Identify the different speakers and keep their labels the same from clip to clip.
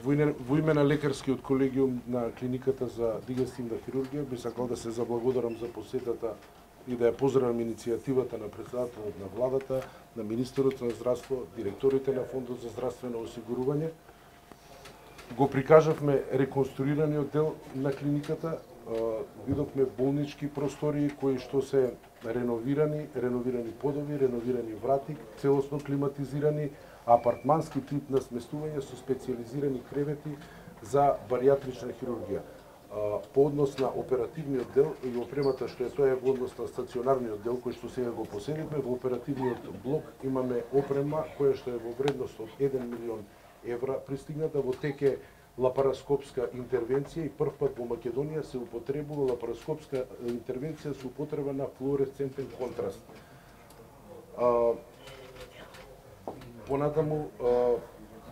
Speaker 1: Во име на лекарскиот колегиум на клиниката за дигестивна хирургија би сакал да се заблагодарам за посетата и да ја поздравам иницијативата на председателот на владата, на министерот на здравство, директорите на Фондот за здравствено осигурување. Го прикажавме реконструираниот дел на клиниката, видовме болнички простории кои што се реновирани подови, реновирани врати, целосно климатизирани, апартмански тип на сместување со специјализирани кревети за баријатрична хирургија. По однос на оперативниот дел и опремата што е тоа е во однос на стационарниот дел кој што сега го поседивме, во оперативниот блок имаме опрема која што е во вредност од 1 милион евра пристигната, во теке лапароскопска интервенција и прв пат во Македонија се употребува лапароскопска интервенција со употреба на флуоресцентен контраст. Понатаму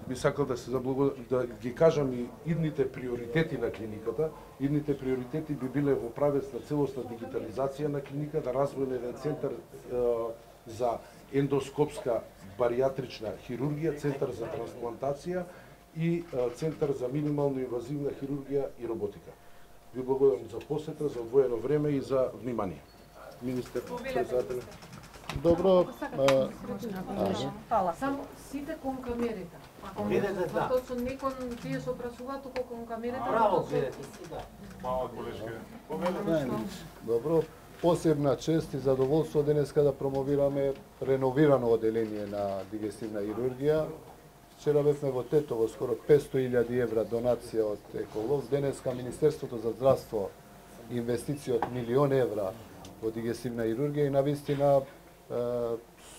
Speaker 1: би сакал да се да ги кажам и идните приоритети на клиниката. Идните приоритети би биле во правец на целосна дигитализација на клиниката, развој на еден центар за ендоскопска баријатрична хирургија, центар за трансплантација и центар за минимално инвазивна хирургија и роботика. Ви благодарам за посета, за одвоено време и за внимание. Министер, председател.
Speaker 2: Добро.
Speaker 3: Фала. Само сите кон камерите.
Speaker 4: Видете, да.
Speaker 3: Точно не кон тие што прашуваат, туку кон камерите.
Speaker 4: Браво, видете, да.
Speaker 5: Мала колешка.
Speaker 2: Добро. Посебна чест и задоволство денеска да промовираме реновирано оделение на дигестивна хирургија. Вчера бевме во Тетово, скоро 500.000 евра донација од Еколог. Денеска Министерството за здравство инвестиција од 1 милион евра во дигестивна хирургија и навистина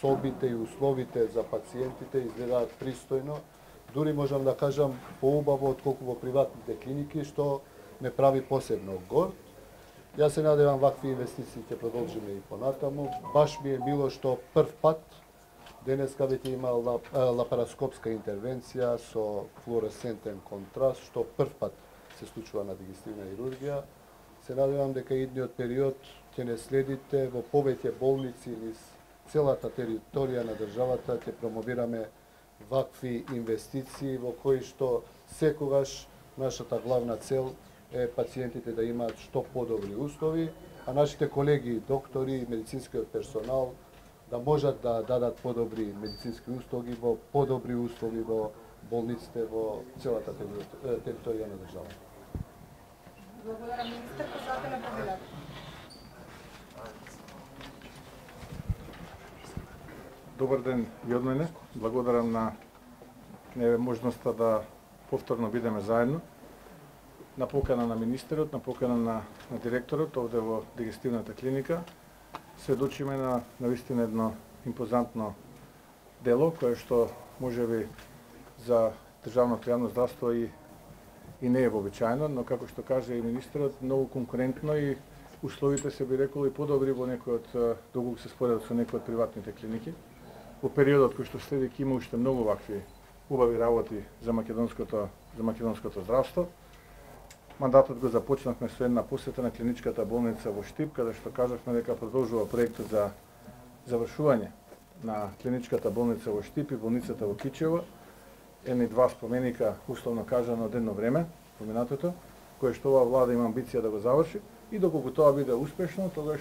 Speaker 2: собите и условите за пациентите изгледаат пристојно. Дури можам да кажам поубаво отколку во приватните клиники, што ме прави посебно горд. Јас се надевам вакви инвестиции ќе продолжиме и понатаму. Баш ми е мило што прв пат денеска веќе има лапароскопска интервенција со флуоресцентен контраст, што прв пат се случува на дигестивна хирургија. Се надевам дека идниот период ќе не следите во повеќе болници низ целата територија на државата, ќе промовираме вакви инвестиции во кои што секогаш нашата главна цел е пациентите да имаат што подобри услови, а нашите колеги, доктори и медицинскиот персонал да можат да дадат подобри медицински услуги во подобри услови во болниците во целата територија на државата.
Speaker 3: Благодарам, министер, председател на Победата.
Speaker 5: Добар ден и од мене. Благодарам на можноста да повторно бидеме заедно. На покана на министерот, на покана на директорот овде во дигестивната клиника, сведочиме на навистина едно импозантно дело кое што можеби за државното јавно здравство и не е вообичаено, но како што кажа и министерот, многу конкурентно и условите се би рекол и подобри во некој од доколку се споредат со некои од приватните клиники. Во периодот кој што следи ќе има уште многу вакви убави работи за македонското здравство. Мандатот го започнавме со една посета на клиничката болница во Штип, каде што кажавме дека продолжува проектот за завршување на клиничката болница во Штип и болницата во Кичево. Едни два споменика, условно кажано, од едно време, поминатото, кое што оваа влада има амбиција да го заврши и доколку тоа биде успешно, тогаш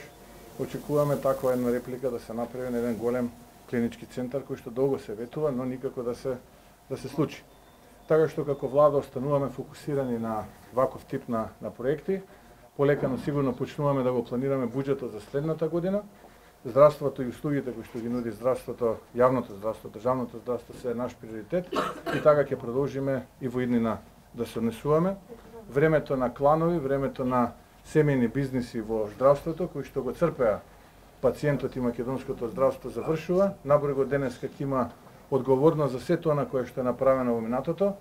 Speaker 5: очекуваме таква една реплика да се направи на еден голем клинички центар кој што долго се ветува, но никако да се случи. Така што како влада остануваме фокусирани на ваков тип на проекти, полека но сигурно почнуваме да го планираме буџетот за следната година. Здравството и услугите кои што ги нуди здравството, јавното здравство, државното здравство се наш приоритет и така ќе продолжиме и во иднина да се однесуваме. Времето на кланови, времето на семејни бизниси во здравството кои што го црпеа пациентот и македонското здравство завршува. Набрего денеска ќе има одговорност за сето она кое што е направено во минатото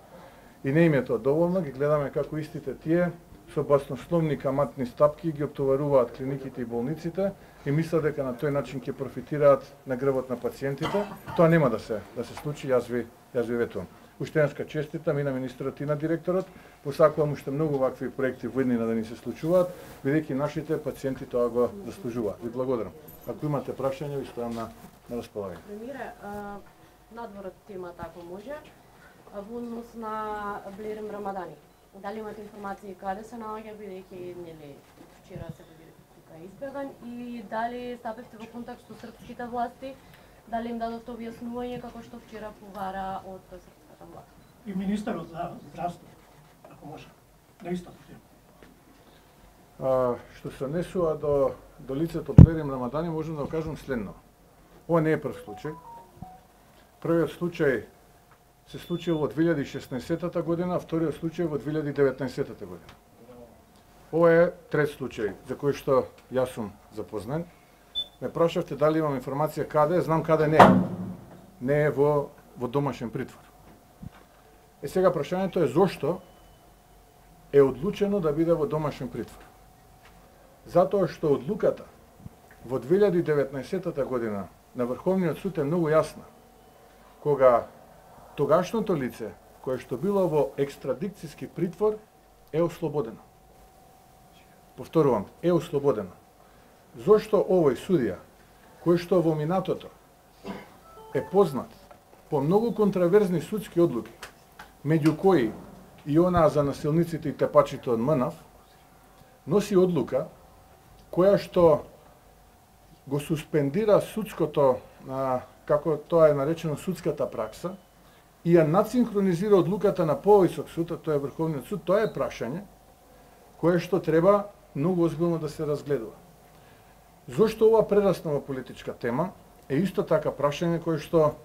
Speaker 5: и не им е тоа доволно. Ги гледаме како истите тие со баснословни каматни стапки ги оптоваруваат клиниките и болниците и мислат дека на тој начин ќе профитираат на грбот на пациентите. Тоа нема да се случи, јас ви ветувам. Уште еднашка честитам и на министерот и на директорот. Посакувам уште многу вакви проекти во иднина да ни се случуваат, бидејќи нашите пациенти тоа го заслужуваат. Ви благодарам. Ако имате прашања, ви стојам на располагање.
Speaker 6: Премире, надворот тема ако може. во однос на Блерим Рамадани. Дали имате информации каде се наоѓа, бидејќи нели вчера се тука избеган, и дали стапевте во контакт со српските власти, дали им дадовте објаснување како што вчера повара од српската власт?
Speaker 7: И министерот за здравство, ако може, на истата тема.
Speaker 5: Што се однесува до лицето Блерим Рамадани, можам да кажам следно. Ова не е прв случај. Првиот случај се случил во 2016 година, а вториот случај во 2019 година. Ова е трет случај за кој што јас сум запознат. Ме прашавте дали имам информација каде, знам каде не е. Не е во домашен притвор. Сега прашањето е зошто е одлучено да биде во домашен притвор. Затоа што одлуката во 2019 година на Врховниот суд е многу јасна. Кога тогашното лице, кое што било во екстрадикцијски притвор, е ослободено. Повторувам, е ослободено. Зошто овој судија, кој што во минатото е познат по многу контраверзни судски одлуки, меѓу кои и онаа за насилниците и тепачите од МНАВ, носи одлука која што го суспендира судското, како тоа е наречено судската пракса, и ја надсинхронизира одлуката на повисок суд, а тоа е Врховниот суд, тоа е прашање кое што треба многу озбилно да се разгледува. Зошто ова прерасна во политичка тема е исто така прашање кое што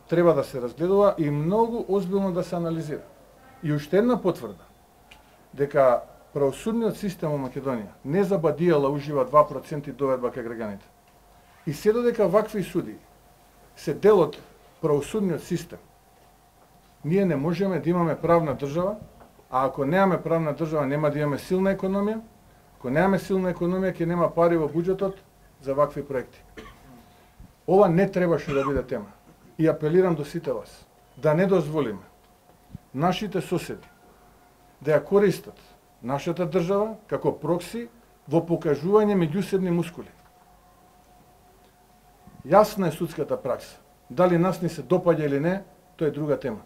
Speaker 5: треба да се разгледува и многу озбилно да се анализира. И уште една потврда дека правосудниот систем во Македонија не забадијала ужива 2% доведба кај граѓаните. И се додека вакви суди се дел од правосудниот систем, ние не можеме да имаме правна држава, а ако немаме правна држава нема да имаме силна економија, ако немаме силна економија ќе нема пари во буџетот за вакви проекти. Ова не требаше да биде тема. И апелирам до сите вас да не дозволиме нашите соседи да ја користат нашата држава како прокси во покажување меѓусебни мускули. Јасна е судската пракса. Дали нас ни се допаѓа или не, тоа е друга тема.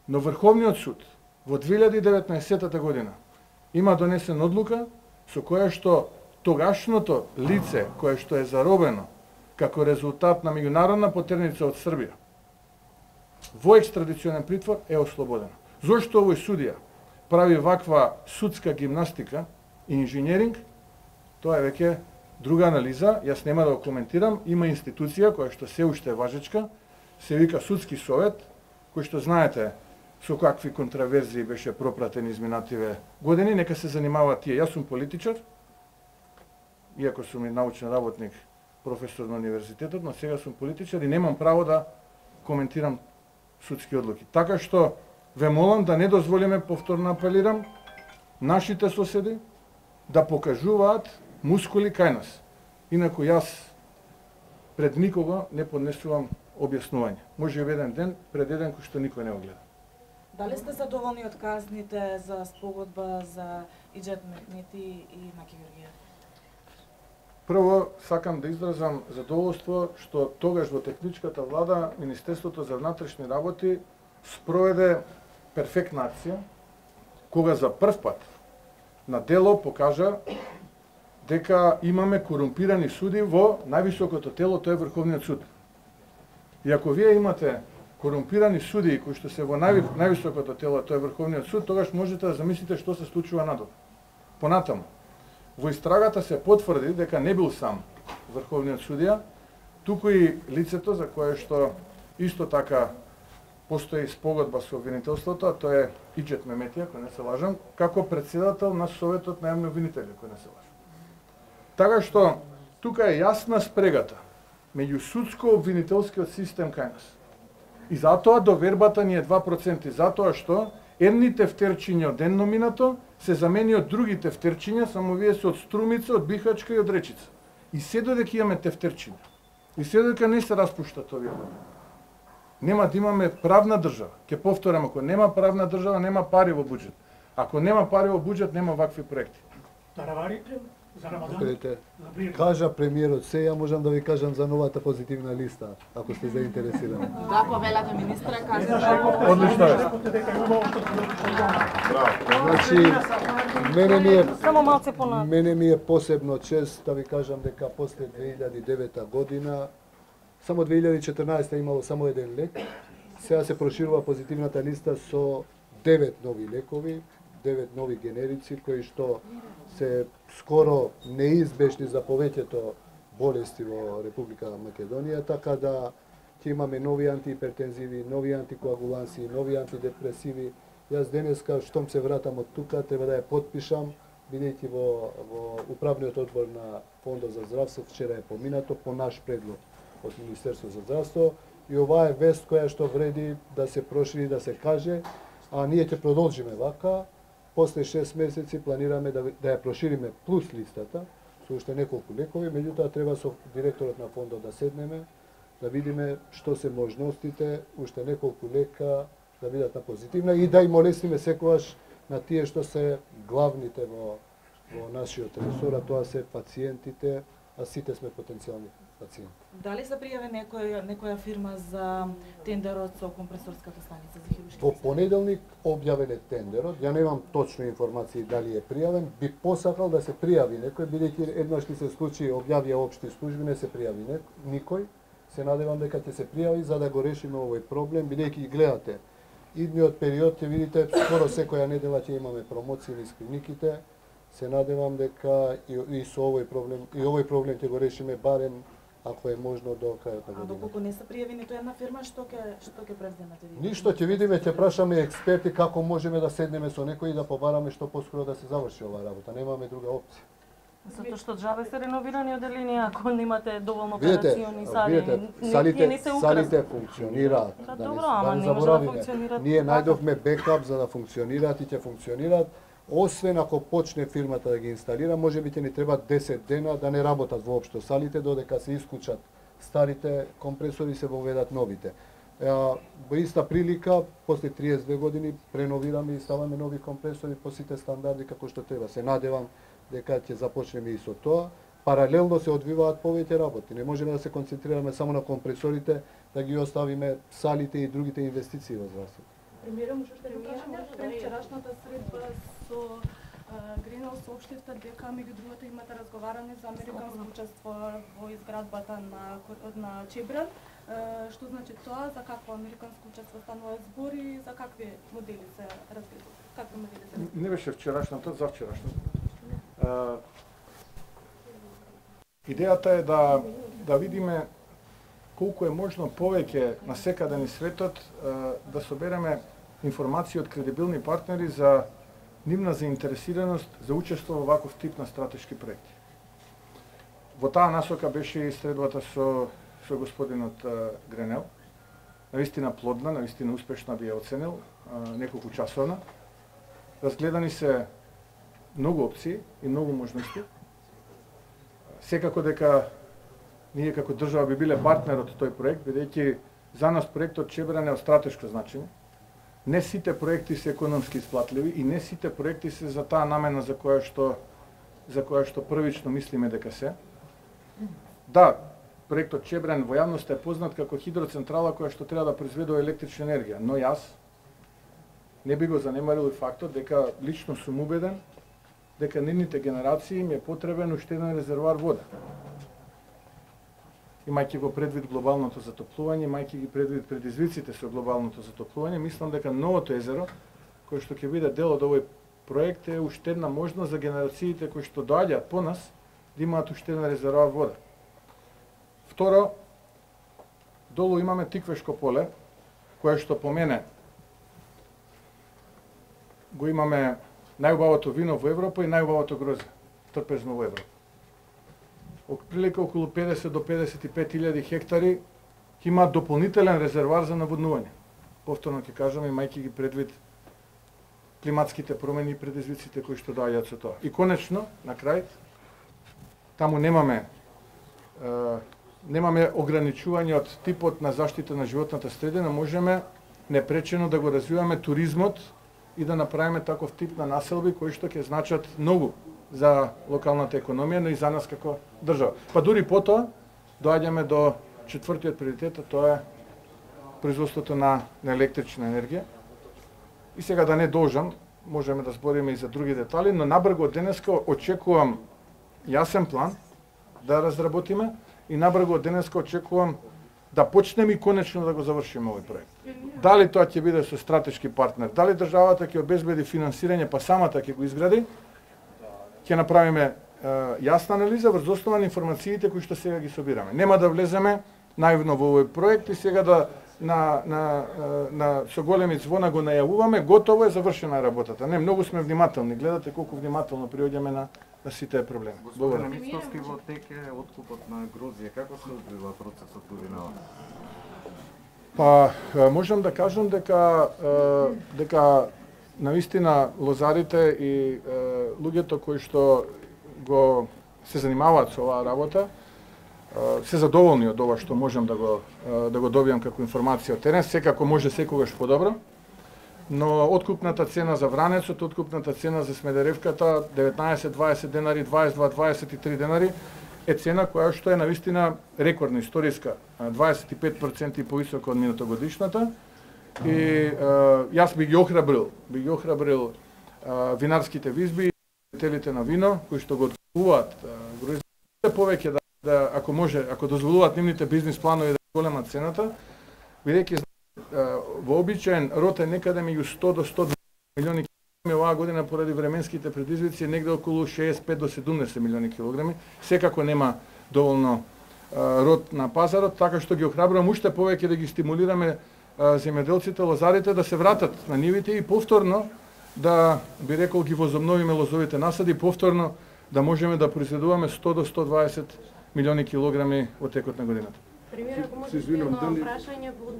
Speaker 5: Но Врховниот суд во 2019 година има донесен одлука со која што тогашното лице кое што е заробено како резултат на меѓународна потерница од Србија во екстрадиционен притвор е ослободено. Зошто овој судија прави ваква судска гимнастика и инженеринг, тоа е веќе друга анализа, јас нема да го коментирам. Има институција која што се уште е важечка, се вика Судски совет, кој што знаете со какви контраверзии беше пропратен изминативе години, нека се занимаваат тие. Јас сум политичар, иако сум и научен работник, професор на универзитетот, но сега сум политичар и немам право да коментирам судски одлуки. Така што ве молам да не дозволиме, повторно апелирам, нашите соседи да покажуваат мускули кај нас. Инаку јас пред никого не поднесувам објаснување. Може и еден ден, пред еден кој што никој не го гледа.
Speaker 8: Дали сте задоволни од казните за спогодба за Иџет Мехмети и Маки Георгиев?
Speaker 5: Прво, сакам да изразам задоволство што тогаш во техничката влада Министерството за внатрешни работи спроведе перфектна акција, кога за прв пат на дело покажа дека имаме корумпирани суди во највисокото тело, тоа е Врховниот суд. И ако вие имате корумпирани суди кои што се во највисокото тело, тоа е Врховниот суд, тогаш можете да замислите што се случува надолу. Понатаму, во истрагата се потврди дека не бил сам Врховниот судија, туку и лицето за кое што исто така постои спогодба со обвинителството, а тоа е Иџет Мехмети, ако не се лажам, како председател на Советот на јавни обвинители, ако не се лажам. Така што тука е јасна спрегата меѓу судско-обвинителскиот систем кај нас. И затоа довербата ни е 2%, затоа што едни тефтерчиња од едно минато се замени од други тефтерчиња, само вие се од Струмица, од Бихачка и од Речица. И се додека имаме тефтерчиња, и се додека не се распуштат овие години, нема да имаме правна држава. Ке повторам, ако нема правна држава, нема пари во буџет. Ако нема пари во буџет, нема вакви проекти.
Speaker 7: Тараварите За Рамадан?
Speaker 2: Видите,
Speaker 7: За прием?
Speaker 2: кажа премиерот се, ја можам да ви кажам за новата позитивна листа, ако сте заинтересирани.
Speaker 8: Да, повелата министра кажа.
Speaker 5: Одлично е.
Speaker 2: Значи,
Speaker 6: Само
Speaker 2: мене ми е посебно чест да ви кажам дека после 2009 година, само 2014 имало само еден лек, сега се проширува позитивната листа со 9 нови лекови, 9 нови генерици кои што се скоро неизбежни за повеќето болести во Република Македонија, така да ќе имаме нови антихипертензиви, нови антикоагуланси, нови антидепресиви. Јас денеска, штом се вратам од тука, треба да ја потпишам, бидејќи во управниот одбор на Фондот за здравство вчера е поминато по наш предлог од Министерството за здравство и оваа е вест која што вреди да се прошири, да се каже, а ние ќе продолжиме вака. После 6 месеци планираме да ја прошириме плюс листата со уште неколку лекови, меѓутоа треба со директорот на фондот да седнеме, да видиме што се можностите, уште неколку лека да бидат на позитивна и да им олесниме секогаш на тие што се главните во нашиот ресор, а тоа се пациентите, а сите сме потенцијални пациенти.
Speaker 8: Дали се пријави некоја фирма за тендерот со компресорската станица за хируршки?
Speaker 2: Во понеделник објавен е тендерот, ја немам точно информации дали е пријавен, би посакал да се пријави некој, бидејќи еднаш ни се случи објавија општи служби, не се пријави никој. Се надевам дека ќе се пријави за да го решиме овој проблем, бидејќи гледате, идниот период ќе видите скоро секоја недела ќе имаме промоции низ клиниките. Се надевам дека и со овој проблем ќе го решиме барем ако е можно до крајот на
Speaker 8: А
Speaker 2: годината.
Speaker 8: доколку не се пријави ниту една фирма, што ќе превземате вие?
Speaker 2: Ништо, ќе видиме, ќе прашаме експерти како можеме да седнеме со некој и да побараме што поскоро да се заврши оваа работа. Немаме друга опција.
Speaker 6: Затоа што джабе се реновирани оделенија ако немате доволно
Speaker 2: Видите,
Speaker 6: операциони сали.
Speaker 2: салите функционираат.
Speaker 6: Па
Speaker 2: Да
Speaker 6: добро,
Speaker 2: да
Speaker 6: ама
Speaker 2: не
Speaker 6: не може да
Speaker 2: заборавиме.
Speaker 6: функционираат
Speaker 2: Ние
Speaker 6: така.
Speaker 2: најдовме бекап за да функционираат и ќе функционираат. Освен ако почне фирмата да ги инсталира, можеби ќе ни треба 10 дена да не работат воопшто салите, додека се исклучат старите компресори и се воведат новите. Во иста прилика, после 32 години, преновираме и ставаме нови компресори по сите стандарди како што треба. Се надевам дека ќе започнеме и со тоа. Паралелно се одвиваат повеќе работи. Не можеме да се концентрираме само на компресорите, да ги оставиме салите и другите инвестиции во здравството.
Speaker 3: Премиерот може да кажеме пред вчерашната средба со Гренел соопштивте дека меѓу другото имате разговаране за американско учество во изградбата на Чебран. Што значи тоа, за какво американско учество станува збор и за какви модели се разгледува? Какви модели се разгледува?
Speaker 5: Не беше вчерашната, за вчерашната. Идејата е да видиме колку е можно повеќе на секаде низ светот да собереме информации од кредибилни партнери за нивна заинтересираност за учество во ваков тип на стратешки проекти. Во таа насока беше и средбата со господинот Гренел. Навистина плодна, навистина успешна би ја оценил, неколку часовна. Разгледани се многу опции и многу можности. Секако дека ние како држава би биле партнер од тој проект, бидејќи за нас проектот Чебран е од стратешко значење. Не сите проекти се економски исплатливи и не сите проекти се за таа намена за која што првично мислиме дека се. Да, проектот Чебран во јавноста е познат како хидроцентрала која што треба да произведува електрична енергија, но јас не би го занемарил и фактот дека лично сум убеден дека нивните генерации им е потребен уште еден резервоар вода. Имајќи го предвид глобалното затоплување, имајќи ги предвид предизвиците со глобалното затоплување, мислам дека новото езеро, кое што ќе биде дел од овој проект, е уште една можност за генерациите кои што доаѓаат по нас да имаат уште еден резервоар вода. Второ, долу имаме Тиквешко поле, кое што по мене го имаме најубавото вино во Европа и најубавото грозде, трпезно во Европа. Прилика околу 50 до 55.000 хектари ќе имаат дополнителен резервоар за наводнување. Повторно ќе кажам, имајќи ги предвид климатските промени и предизвиците кои што доаѓаат со тоа. И конечно, на крај, таму немаме ограничување од типот на заштита на животната средина, можеме непречено да го развиваме туризмот и да направиме таков тип на населби кои што ќе значат многу за локалната економија, но и за нас како држава. Па дури потоа доаѓаме до четвртиот приоритет, тоа е производството на електрична енергија. И сега да не должам, можеме да збориме и за други детали, но набрзо од денеска очекувам јасен план да разработиме и набрзо од денеска очекувам да почнеме и конечно да го завршиме овој проект. Дали тоа ќе биде со стратешки партнер, дали државата ќе обезбеди финансирање па самата ќе го изгради, ќе направиме јасна анализа врз основа на информациите кои што сега ги собираме. Нема да влеземе наивно во овој проект и сега да со големи звона го најавуваме, готово е, завршена работата. Не, многу сме внимателни, гледате колку внимателно приоѓаме на сите проблеми.
Speaker 9: Благодарам. Мицовски, во тек е откупот на Грузија. Како се одвива процесот увинава?
Speaker 5: Па, можам да кажам дека навистина лозарите и луѓето кои што се занимаваат со оваа работа се задоволни од ова што можам да го добијам како информација од терен. Секако може секогаш подобро, но откупната цена за Вранецот, откупната цена за Смедеревката 19-20 денари, 22-23 денари е цена која што е навистина рекордна, историска, 25% повисока од минатогодишната. И јас би ги охрабрил винарските визби, телите на вино кои што го откупуваат Грузија повеќе да ако може, ако дозволуваат нивните бизнис планови да голема цената, бидејќи во обичаен род е некаде меѓу 100 до 120 милиони килограми, оваа година поради временските предизвици негде околу 65 до 70 милиони килограми. Секако нема доволно род на пазарот, така што ги охрабрувам уште повеќе да ги стимулираме земјоделците, лозарите да се вратат на нивите и повторно да, би рекол, ги возобновиме лозовите насади, повторно да можеме да произведуваме 100 до 120 милиони килограми во текот на годината.
Speaker 6: Пример, ако може едно прашање во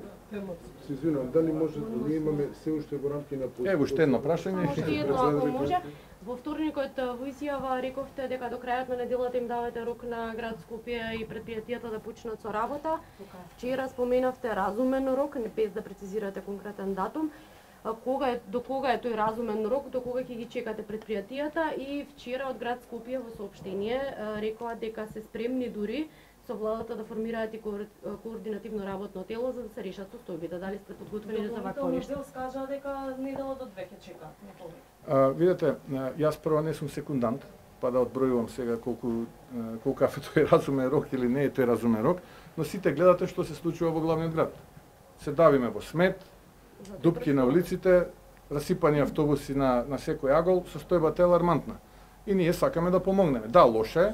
Speaker 1: Се извинувам, дали може да ние имаме се уште во рамки на
Speaker 5: уште едно прашање.
Speaker 6: Уште едно, ако може. Во вторникот во изјава рековте дека до крајот на неделата им давате рок на град Скопје и предпријатијата да почнат со работа. Вчера споменавте разумен рок, без да прецизирате конкретен датум. До кога е тој разумен рок, до кога ќе ги чекате предпријатијата? И вчера од град Скопје во соопштение рекоа дека се спремни дури со владата да формираат и координативно работно тело за да се решат состојбите. Дали сте подготвени за вакво нешто?
Speaker 8: Допълнително скажа дека недела до 2 ќе чека.
Speaker 5: Видете, јас прво не сум секундант, па да одбројувам сега колку е тој разумен рок или не е тој разумен рок, но сите гледате што се случува во главниот град. Се давиме во смет, дупки на улиците, расипани автобуси на секој агол, состојбата е алармантна. И ние сакаме да помогнеме. Да, лоша е,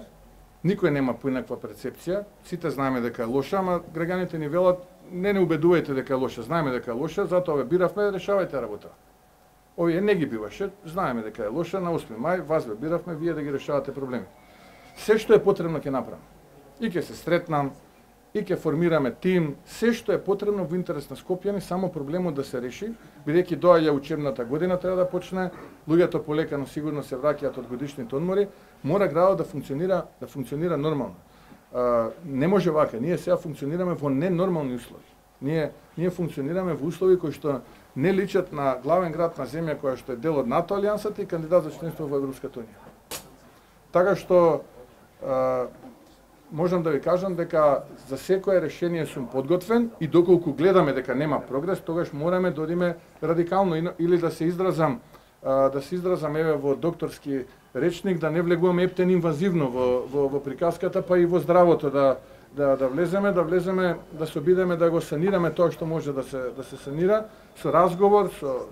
Speaker 5: никој нема поинаква перцепција, сите знаеме дека е лоша, ама граѓаните ни велат не убедувајте дека е лоша, знаеме дека е лоша, затоа ве биравме, решавајте работа. Овие не ги биваше, знаеме дека е лоша, на 8 мај вас ве биравме, вие да ги решавате проблеми. Се што е потребно ќе направам. И ќе се сретнам, и ќе формираме тим, се што е потребно во интерес на Скопјани, само проблемот да се реши, бидејќи доаѓа учебната година, треба да почне, луѓето полека но сигурно се враќаат од годишните одмори, мора градот да функционира нормално. Не може вака, ние сега функционираме во ненормални услови. Ние функционираме во услови кои што не личат на главен град на земја која што е дел од НАТО алијансата и кандидат за членство во Европската унија. Така што можам да ви кажам дека за секое решение сум подготвен и доколку гледаме дека нема прогрес, тогаш мораме да одиме радикално или да се изразам еве во докторски речник, да не влегуваме ептен инвазивно во приказката, па и во здравото да влеземе, да се обидеме да го санираме тоа што може да се санира со разговор,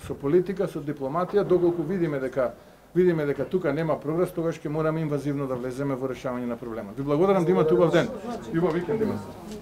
Speaker 5: со политика, со дипломатија, доколку видиме дека тука нема прогрес, тогаш ќе мораме инвазивно да влеземе во решавање на проблемот. Ви благодарам да имате убав ден. Убав викенд имате.